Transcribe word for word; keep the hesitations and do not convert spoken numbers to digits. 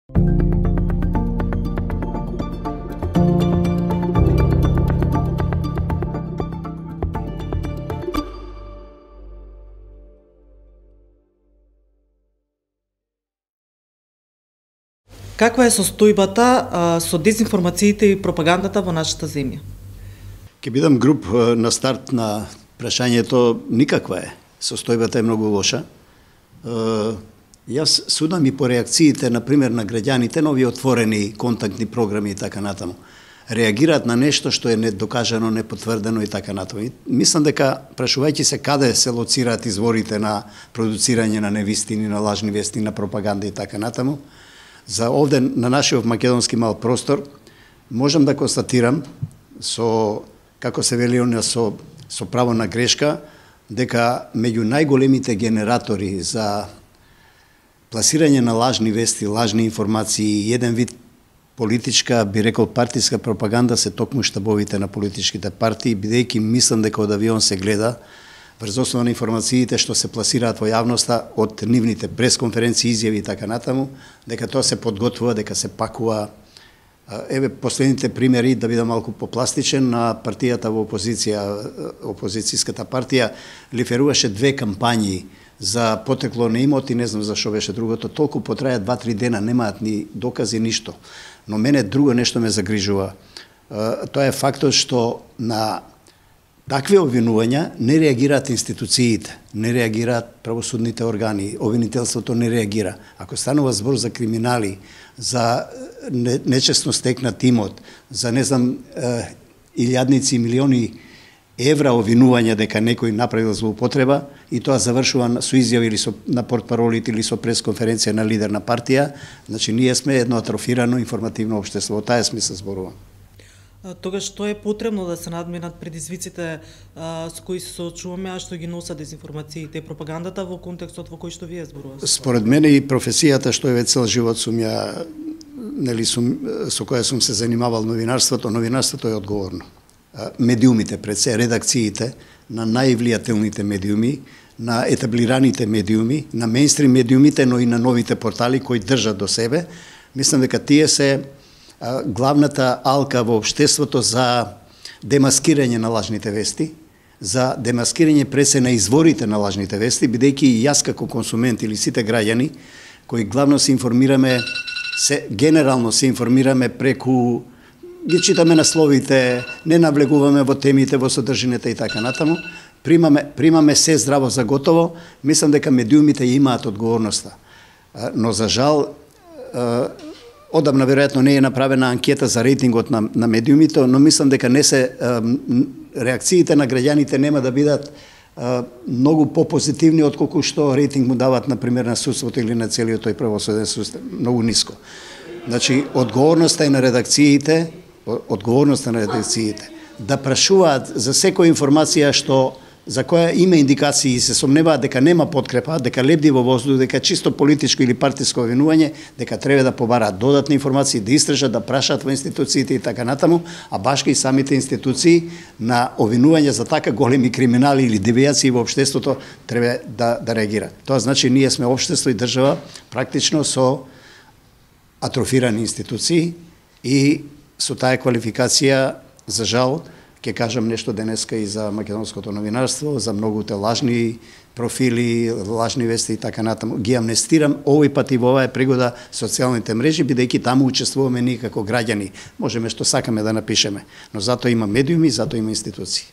Каква е состојбата а, со дезинформациите и пропагандата во нашата земја? Ке бидам груб на старт на прашањето, никаква е. Состојбата е многу лоша. Е, јас судам и по реакциите, например, на граѓаните на овие отворени контактни програми и така натаму. Реагираат на нешто што е недокажано, непотврдено и така натаму. Мислам дека, прашувајќи се каде се лоцираат изворите на продуцирање на невистини, на лажни вести, на пропаганда и така натаму, за овде на нашиот македонски мал простор, можам да констатирам со, како се вели оно, со, со право на грешка, дека меѓу најголемите генератори за пласирање на лажни вести, лажни информации, еден вид политичка, би рекол партиска пропаганда се токму штабовите на политичките партии, бидејќи мислам дека од авион се гледа врз основа на информациите што се пласираат во јавноста од нивните пресконференции, изјави и така натаму, дека тоа се подготвува, дека се пакува. Еве последните примери, да бидам малку попластичен, на партијата во опозиција, опозицијската партија лиферуваше две кампањи за потекло на имот и не знам зашо беше другото, толку потраја два-три дена, немаат ни докази, ништо. Но мене друго нешто ме загрижува. Тоа е фактот што на такви обвинувања не реагираат институциите, не реагираат правосудните органи, обвинителството не реагира. Ако станува збор за криминали, за нечесно стекнат имот, за не знам илјадници и милиони евра обвинувања дека некој направил злоупотреба и тоа завршува со изјави или со на портпаролите или со пресконференција на лидер на партија, значи ние сме едно атрофирано информативно општество. Во таа смисла зборувам. Тогаш што е потребно да се надминат предизвиците а, со кои се соочуваме, а што ги носат дезинформациите и пропагандата во контекстот во кој што вие зборувате? Според мене и професијата што е цел живот сум ја, нели сум со која сум се занимавал новинарството, новинарството е одговорно. Медиумите пред се, редакциите на највлијателните медиуми, на етаблираните медиуми, на мејнстрим медиумите, но и на новите портали кои држат до себе, мислам дека тие се главната алка во општеството за демаскирање на лажните вести, за демаскирање пресе на изворите на лажните вести, бидејќи и јас како консумент или сите граѓани кои главно се информираме, се генерално се информираме преку, ги читаме насловите, не навлегуваме во темите, во содржината и така натаму, примаме примаме се здраво за готово, мислам дека медиумите имаат одговорноста. Но за жал одамна веројатно не е направена анкета за рейтингот на, на медиумите, но мислам дека не се реакциите на граѓаните нема да бидат многу попозитивни отколку што рейтинг му дават, например, на судството или на целиот тој правосуден систем, многу ниско. Значи, одговорноста е на редакциите, одговорноста на редакциите да прашуваат за секоја информација што за која има индикации и се сомневаат дека нема подкрепа, дека лебди во воздух, дека чисто политичко или партиско обвинување, дека треба да побараат додатни информации, да истражат, да прашаат во институциите и така натаму, а башка и самите институции на обвинување за така големи криминали или девијации во општеството треба да, да реагираат. Тоа значи ние сме општество и држава практично со атрофирани институции и со таа квалификација, за жал, ќе кажам нешто денеска и за македонското новинарство, за многуте лажни профили, лажни вести и така натаму. Ги амнестирам овој пат и во оваа пригода социјалните мрежи, бидејќи таму учествуваме ние како граѓани. Можеме што сакаме да напишеме, но затоа има медиуми, затоа има институции.